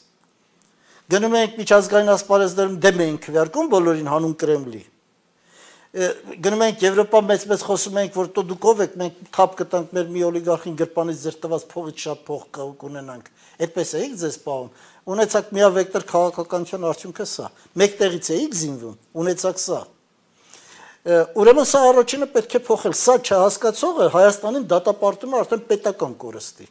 Գնում ենք միջազգային ասպարեզներում դեմ ենք քվեարկում բոլորին հանուն Կրեմլի։ Գնում ենք Եվրոպա մեծ խոսում ենք, որ դուք ով եք, մենք թափ կտանք մեր մի օլիգարխին գրպանից ձեր տված փողից շատ փող կունենանք։ Այդպես էիք ձեզ պահում։ Ունեցաք միավեկտոր քաղաքականության արդյունքը սա։ Մեկտեղից էիք զինվում, ունեցաք սա։ Ուրեմն սա առաջինը պետք է փոխել։ Սա չհասկացողը Հայաստանին դատապարտում է արդեն պետական կորստի։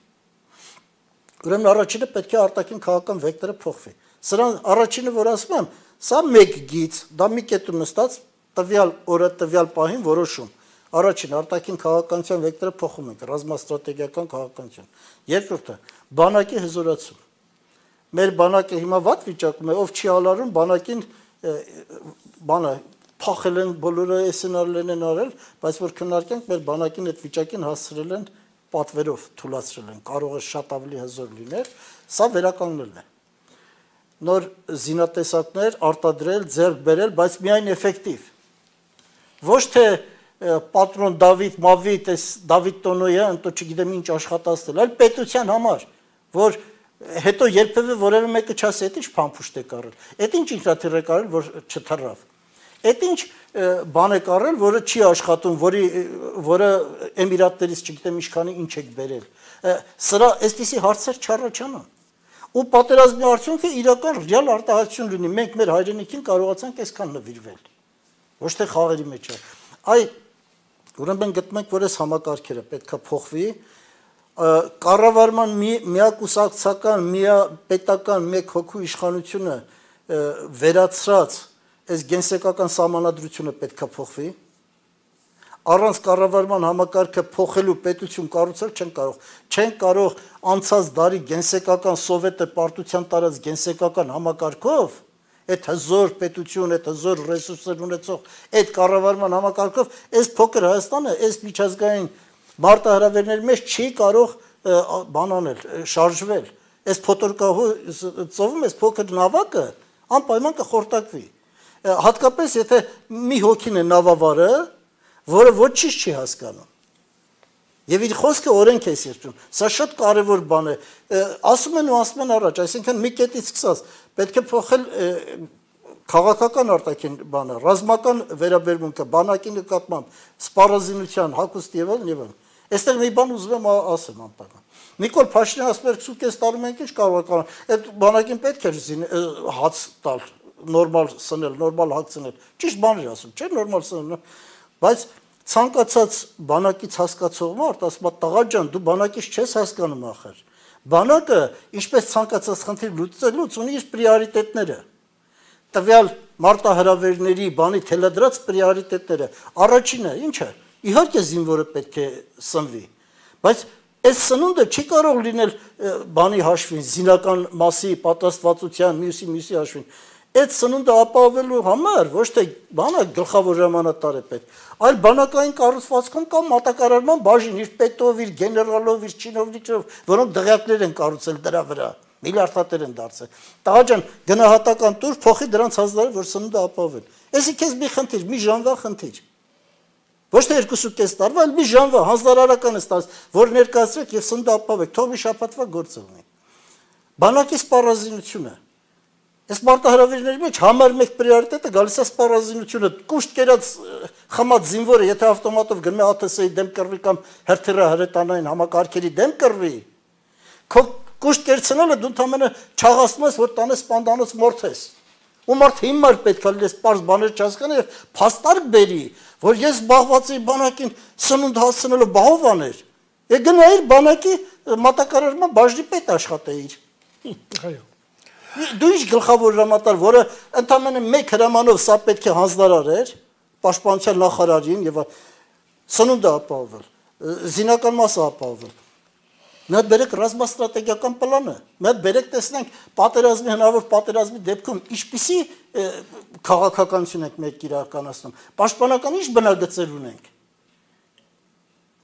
Ուրեմն առաջինը պետք է արտաքին քաղաքական վեկտորը փոխվի։ Սրան առաջինը, որ ասում եմ, սա մեկ գիծ, դա մի կետում նստած տվյալ օրը տվյալ պահին որոշում։ Առաջին արտաքին քաղաքականության վեկտորը փոխում ենք, ռազմաստրատեգիական քաղաքականություն։ Երկրորդը բանակի հզորացում։ Մեր բանակը հիմա վատ վիճակում է, ով չի ալարում բանակին բանը փախել են բոլորը սցենարներն են արել, բայց որ քննարկենք մեր բանակին այդ վիճակին հասցրել են պատվերով թույլատրել են, կարող է շատ ավելի հզոր լինել, սա վերականգնելն է։ Նոր զինատեսակներ արտադրել, ձեռք բերել, բայց միայն էֆեկտիվ։ Ոչ թե պատրոն Դավիթ, Մավիթ, այս Դավիթ Տոնոյան, તો չգիտեմ ինչ աշխատացնել, այլ պետության համար, որ հետո երբևէ որևէ մեկը չասի, այդ ինչ փամփուշտ է կարել, այդ ինչ ինքնաթիռ է կարել, որ չթռավ, այդ ինչ բան է կարել, որը չի աշխատում, որը Էմիրատներից չգիտեմ ինչքանի ինչ եք բերել, սրա այսպիսի հարցեր չառաջանան, ու պատերազմի արդյունքը իրական ռեալ արտահայտություն լինի, մենք մեր հայրենիքին կարողացանք այսքան նվիրվել, ոչ թե խաղերի մեջ է, ուրեմն գտնում ենք, որ այս համակարգերը պետք է փոխվի, կառավարման միակուսակցական, միապետական մեկ հոգու իշխանությունը վերացրած այս գենսեկական սահմանադրությունը պետք է փոխվի։ Առանց կառավարման համակարգը փոխելու պետություն կառուցել չեն կարող անցած դարի գենսեկական սովետը պարտության տարած գենսեկական համակարգով, այդ հզոր պետություն, այդ հզոր ռեսուրսներ ունեցող այդ կառավարման համակարգով այս փոքր Հայաստանը, այս միջազգային մարտահրավերների մեջ չի կարող բան անել, շարժվել։ Այս փոթորկահու ծովում այս փոքր նավակը անպայման կխորտակվի։ Հատկապես եթե մի հոգին է նավավարը, որը ոչինչ չի հասկանում։ Եվ իր խոսքը օրենք է սիրում։ Սա շատ կարևոր բան է։ Ասում են առաջ, այսինքն մի կետից սկսած պետք է փոխել քաղաքական արտաքին բանը, ռազմական վերաբերմունքը, բանակի նկատմամբ, սպառազինության, հագուստ եւ այլն։ Այստեղ մի բան ուզում եմ ասեմ անպայման։ Նիկոլ Փաշինյանը ասում էր 20 տարում ենք ինչ կարող ենք, այդ բանակին պետք էր հաց տալ, նորմալ սնել, նորմալ հաց ցնել։ Ճիշտ բան էր ասում, չէ՞ նորմալ սնել, բայց ցանկացած բանակից հասկացող մարդ ասում է տղա ջան, դու բանակից չես հասկանում ախր։ Բանակը ինչպես ցանկացած խնդիր լուծելուց ունի իր պրիորիտետները։ Տվյալ մարտահրավերների բանի թելադրած պրիորիտետները։ Առաջինը ի՞նչ է։ Իհարկե զինվորը պետք է սնվի, բայց այս սնունդը չի կարող լինել բանի հաշվին, զինական մասի պատրաստվածության, մյուսի հաշվին։ Այդ սնունդը ապահովելու համար ոչ թե բանը գլխավոր հրամանատար է պետք, այլ բանակային կառուցվածքում կամ մատակարարման բաժին, իր պետով, իր գեներալով, իր չինովնիկով, որոնք դղյակներ են կառուցել դրա վրա, միլիարդատեր են դարձել։ Տղա ջան, գնահատական տուր, փոխի դրանց հազարը, որ սնունդը ապահովեն։ Էսի քեզ մի խնդիր, մի ժամվա խնդիր։ Ոչ թե 2.5 տարվա, այլ մի ժամվա հանձնարարական է տալիս, որ ներկայացրեք եւ սննդը ապահովեք, թող մի շաբաթվա գործ լինի։ Բանակի սպառազինությունը։ Այս մարտահրավերների մեջ համար մեկ պրիորիտետը գալիս է սպառազինությունը։ Կուշտ կերած խմած զինվորը, եթե ավտոմատով գնում է ԱԹՍ-ի դեմ կռվի կամ հրթիռահրետանային համակարգերի դեմ կռվի, քո կուշտ կերցնելը դու ընդամենը չաղացնում ես, որ տանես սպանդանոց մորթես։ Ու մարդ հիմար պետք է լինես պարզ բաներ չհասկանա եւ փաստարկ բերի, որ ես զբաղված էի բանակին սնունդ հասցնելով բահովաներ։ Եկ գնայիր բանակի մատակարարման բաժնի պետ աշխատեիր։ Այո։ Դու ինչ գլխավոր հրամանատար, որը ընդամենը մեկ հրամանով սա պետք է հանձնարարեր պաշտպանության նախարարին եւ սնունդը ապահովել, զինական մասը ապահովել։ Մի հատ բերեք ռազմաստրատեգիական պլանը, մի հատ բերեք տեսնենք պատերազմի հնարավոր պատերազմի դեպքում ինչպիսի քաղաքականություն ենք մենք իրականացնում, պաշտպանական ինչ բնագծեր ունենք։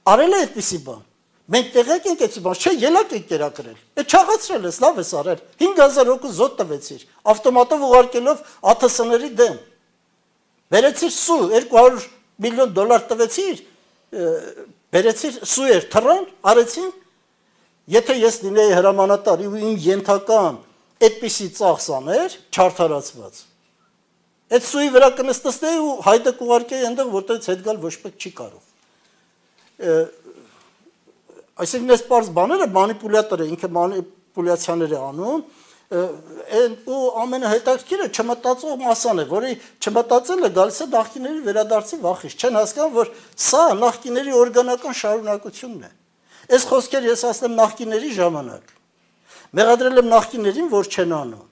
Արել է այդպիսի բան։ Մենք տեղյակ ենք այդպիսի բան, չէ, ելակ ենք կերակրել։ Այդ չաղացրել ես, լավ ես արել։ 5000 հոգու զոտ տվեցիր, ավտոմատով ուղարկելով ԱԹՍ-ների դեմ։ Բերեցիր սու, $200 միլիոն տվեցիր, բերեցիր սուեր, թռան, արեցին։ Եթե ես լինեի հրամանատար ու իմ ենթական այդպիսի ծախս աներ, չարդարացված, այդ սուի վրա կնստեի ու հայտը կուղարկեի այնտեղ, որտեղից հետ գալ ոչ մեկ չի կարող։ Այսինքն այս պարզ բաները մանիպուլյատորը ինքը մանիպուլյացիաներ է անում, ու ամենահետաքրքիրը չմտածող մասան է, որի չմտածելը գալիս է նախկիների վերադարձի վախից, չեն հասկանում, որ սա նախկիների օրգանական շարունակությունն է։ Այս խոսքեր ես ասեմ նախկիների ժամանակ, մեղադրել եմ նախկիներին, որ չեն անում։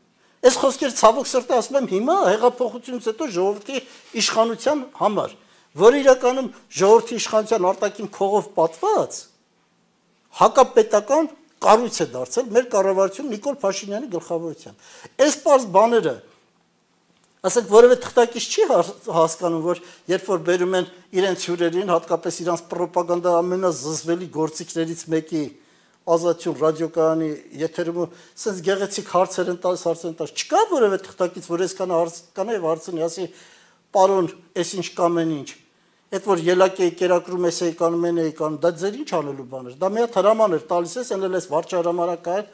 Այս խոսքեր ցավոք սրտի ասում եմ հիմա հեղափոխությունից հետո ժողովրդի իշխանության համար, որ իրականում ժողովրդի իշխանության արտաքին քողով պատված հակապետական կառույց է դարձել մեր կառավարությունը Նիկոլ Փաշինյանի գլխավորությամբ։ Այս պարզ բաները, ասենք որևէ թղթակից չի հասկանում, որ երբ որ բերում են իրենց հյուրերին, հատկապես իրանց պրոպագանդա ամենազզվելի գործիքներից մեկի Ազատություն ռադիոկայանի եթերում sense գեղեցիկ հարցեր են տալիս, չկա որևէ թղթակից, որ այսքան հարց կանա եւ հարցնի, ասի, պարոն, այս ինչ կամեն ինչ։ Այդ որ ելակ էի կերակրում էի կանում էի կանում, դա ձեր ինչ անելու բան էր։ Դա մի հատ հրաման էր տալիս ես, ենել ես վարչահրամանական,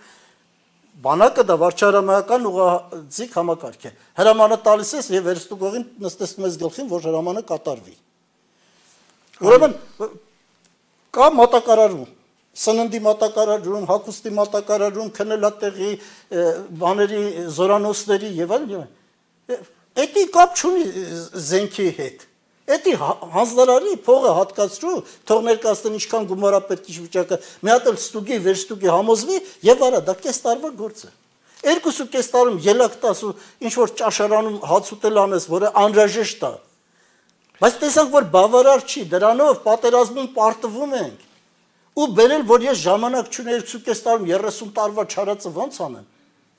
բանակը դա վարչահրամանական ուղղաձիգ համակարգ է։ Հրամանը տալիս ես եւ վերստուգողին նստեցնում ես գլխին, որ հրամանը կատարվի։ Ուրեմն կա մատակարարում, սննդի մատակարարում, հագուստի մատակարարում, քնելատեղի, բաների, զորանոցների եւ այլն։ Էդի կապ չունի զենքի հետ։ Էդի հանձնարարի փողը հատկացրու, թող ներկայացնեն ինչքան գումարա պետք է վիճակը, մի հատ էլ ստուգի, վերստուգի համոզվի եւ արա, դա կես տարվա գործ է։ 2.5 տարում ելակ տաս ու ինչ որ ճաշարանում հաց ուտել անես, որը անհրաժեշտ է։ Բայց տեսանք, որ բավարար չի, դրանով պատերազմում պարտվում ենք։ Ու բերել, որ ես ժամանակ չունեի 2.5 տարում 30 տարվա չարածը ոնց անեմ։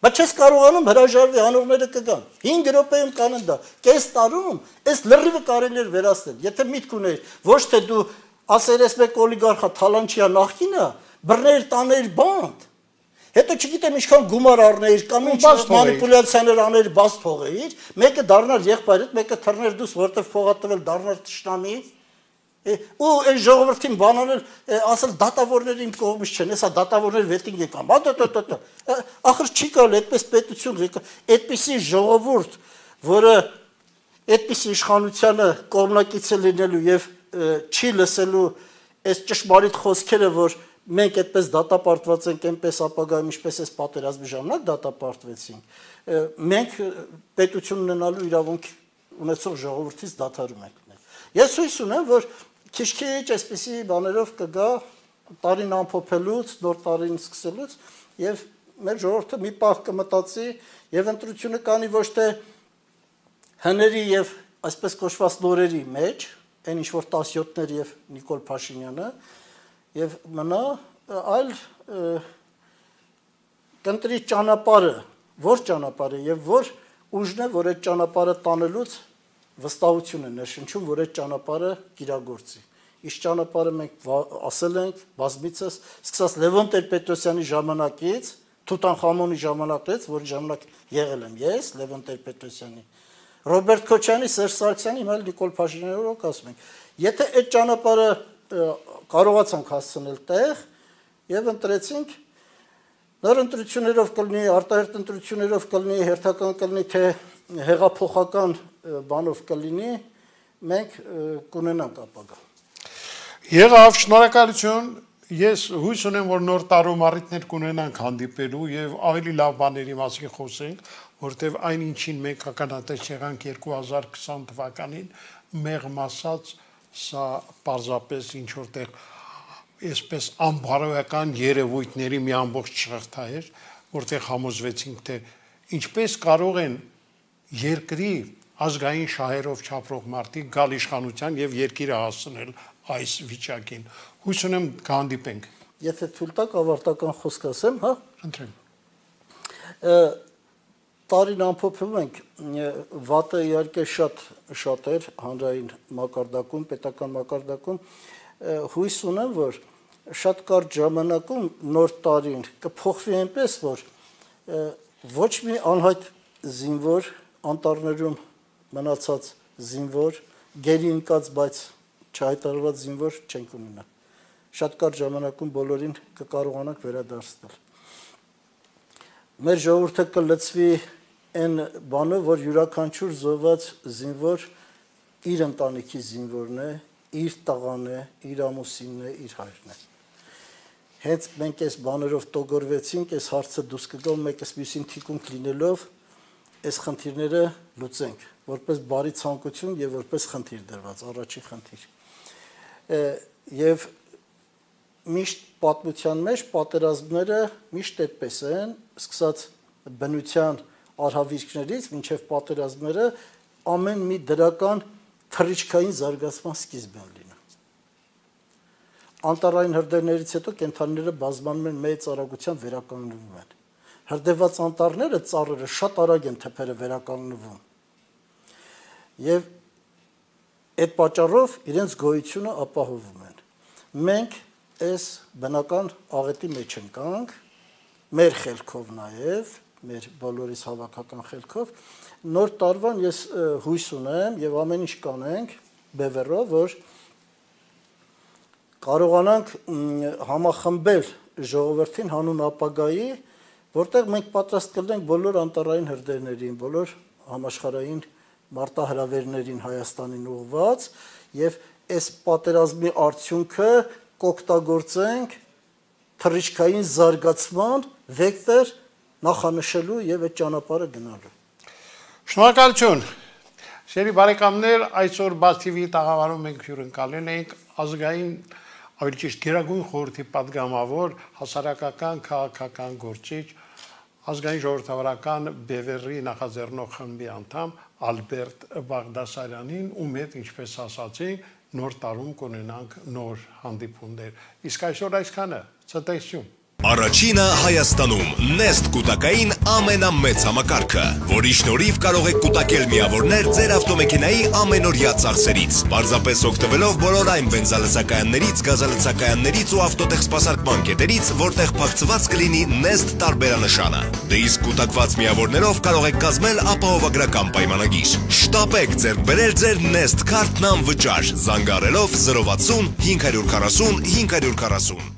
Բայց չես կարողանում հրաժարվի, անողները կգան։ 5 րոպեում կանեն դա։ Կես տարում այս լրիվը կարելի էր վերացնել։ Եթե միտք ուներ, ոչ թե դու ասեր ես մեկ օլիգարխա Թալանչիա նախկինը, բռներ տաներ բանդ։ Հետո չգիտեմ ինչքան գումար առներ կամ ինչ մանիպուլյացիաներ աներ, բաց թողեիր, մեկը դառնար եղբայրդ, մեկը թռներ դուս, որտեղ փողա տվել դառնար թշնամի։ Ու այս ժողովրդին բանանել, ասել դատավորները իմ կողմից չեն, հեսա դատավորներ վետինգ եկան, ախր չի կարել այդպես պետություն, այդպիսի ժողովուրդ, որը այդպիսի իշխանությանը կողմնակից է լինելու եւ չի լսելու այս ճշմարիտ խոսքերը, որ մենք այդպես դատապարտված ենք, այնպես ապագայում ինչպես այս պատերազմի ժամանակ դատապարտվեցինք, մենք պետություն ունենալու իրավունք ունեցող ժողովրդից դադարում ենք։ Ես հույս ունեմ, որ քիչ-քիչ այսպիսի բաներով կգա տարին ամփոփելուց, նոր տարին սկսելուց եւ մեր ժողովուրդը մի պահ կմտածի եւ ընտրությունը կանի ոչ թե հների եւ այսպես կոչված նորերի մեջ, այն ինչ որ 17-ներ եւ Նիկոլ Փաշինյանը եւ մնա, այլ կընտրի ճանապարհը, որ ճանապարհը եւ որ ուժն է, որ այդ ճանապարհը տանելուց վստահություն է ներշնչում, որ այդ ճանապարհը կիրագործի։ Իշ ճանապարհը մենք ասել ենք բազմիցս, սկսած Լևոն Տեր-Պետրոսյանի ժամանակից, Թութանխամոնի ժամանակից, որի ժամանակ եղել եմ ես, Լևոն Տեր-Պետրոսյանի, Ռոբերտ Քոչյանի, Սերժ Սարգսյանի, հիմա Նիկոլ Փաշինյանի օրոք ասում ենք։ Եթե այդ ճանապարհը կարողացանք հասցնել տեղ եւ ընտրեցինք, նոր ընտրություններով կլինի, արտահերթ ընտրություններով կլինի, հերթական կլինի, թե հեղափոխական բանով կլինի, մենք կունենանք ապագա։ Եղավ, շնորհակալություն։ Ես հույս ունեմ, որ նոր տարում առիթներ կունենանք հանդիպելու եւ ավելի լավ բաների մասին խոսենք, որտեւ այն ինչին մենք ականատես եղանք 2020 թվականին, մեղմ ասած, սա պարզապես ինչ որտեղ այսպես անբարոյական երևույթների մի ամբողջ շղթա էր, որտեղ համոզվեցինք, թե ինչպես կարող են երկրի ազգային շահերով չապրող մարդիկ գալ իշխանության եւ երկիրը հասցնել այս վիճակին։ Հույս ունեմ կհանդիպենք։ Եթե թույլ տաք ավարտական խոսք ասեմ, հա։ Խնդրեմ։ Տարին ամփոփում ենք, վատը իհարկե շատ էր հանրային մակարդակում, պետական մակարդակում, հույս ունեմ, որ շատ կարճ ժամանակում նոր տարին կփոխվի այնպես, որ ոչ մի անհայտ զինվոր, անտառներում մնացած զինվոր, գերի ընկած, բայց չհայտարարված զինվոր չենք ունենա։ Շատ կարճ ժամանակում բոլորին կկարողանանք վերադարձնել։ Մեր ժողովուրդը կլծվի այն բանը, որ յուրաքանչյուր զոհված զինվոր իր ընտանիքի զինվորն է, իր տղան է, իր ամուսինն է, իր հայրն է։ Հենց մենք այս բաներով տոգորվեցինք, այս հարցը դուրս կգա, մեկս մյուսին թիկունք լինելով այս խնդիրները լուծենք, որպես բարի ցանկություն եւ որպես խնդիր դրված, առաջին խնդիր։ Եվ միշտ պատմության մեջ պատերազմները միշտ այդպես են, սկսած բնության արհավիրքներից մինչև պատերազմները ամեն մի դրական թռիչքային զարգացման սկիզբ են լինում։ Անտառային հրդեհներից հետո կենդանիները բազմանում են մեծ արագությամբ վերականգնվում են։ Հրդեհված անտառները, ծառերը շատ արագ են թփերը վերականգնվում։ Եվ այդ պատճառով իրենց գոյությունը ապահովում են։ Մենք այս բնական աղետի մեջ ընկանք, մեր խելքով նաև, մեր բոլորիս հավաքական խելքով, նոր տարվան ես հույս ունեմ եւ ամեն ինչ կանենք բևեռով, որ կարողանանք համախմբել ժողովրդին հանուն ապագայի, որտեղ մենք պատրաստ կլինենք բոլոր անտառային հրդեհներին, բոլոր համաշխարհային մարտահրավերներին Հայաստանին ուղղված եւ այս պատերազմի արդյունքը կօգտագործենք թռիչքային զարգացման վեկտոր նախանշելու եւ այդ ճանապարհը գնալու։ Շնորհակալություն։ Սերի բարեկամներ, այսօր Բաց TV-ի տաղավարում մենք հյուրընկալել ենք ազգային, ավելի ճիշտ Գերագույն խորհրդի պատգամավոր, հասարակական քաղաքական գործիչ, ազգային ժողովրդավարական Բևեռի նախաձեռնող խմբի անդամ Ալբերտ Բաղդասարյանին, ում հետ, ինչպես ասացինք, նոր տարում կունենանք նոր հանդիպումներ։ Իսկ այսօր այսքանը, ցտեսություն։ Առաջինը Հայաստանում Nest կուտակային ամենամեծ համակարգը, որի շնորհիվ կարող եք կուտակել միավորներ ձեր ավտոմեքենայի ամենօրյա ծախսերից, պարզապես օգտվելով բոլոր այն բենզալցակայաններից, գազալցակայաններից ու ավտոտեխսպասարկման կետերից, որտեղ փակցված կլինի Nest տարբերանշանը։ Դե իսկ կուտակված միավորներով կարող եք կազմել ապահովագրական պայմանագիր։ Շտապեք ձեռք բերել ձեր Nest քարտն անվճար, զանգահարելով 060 540 540։